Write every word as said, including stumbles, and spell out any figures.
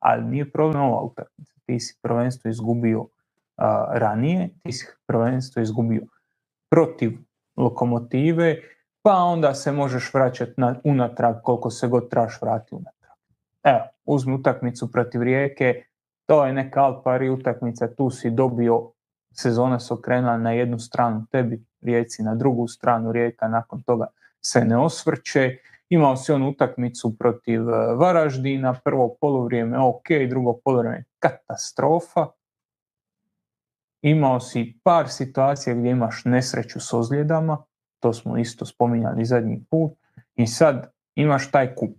ali nije problem ova utakmica. Ti si prvenstvo izgubio uh, ranije, ti si prvenstvo izgubio protiv Lokomotive, pa onda se možeš vraćati na, unatrag koliko se god trebaš vratiti unatrag. Evo, uzmi utakmicu protiv Rijeke, to je neka al pari utakmica, tu si dobio, sezona se okrenula na jednu stranu, tebi Rijeci na drugu stranu, Rijeka nakon toga se ne osvrće. Imao si onu utakmicu protiv Varaždina, prvo poluvrijeme ok, drugo poluvrijeme katastrofa. Imao si par situacija gdje imaš nesreću s ozljedama, to smo isto spominjali zadnji put, i sad imaš taj kup.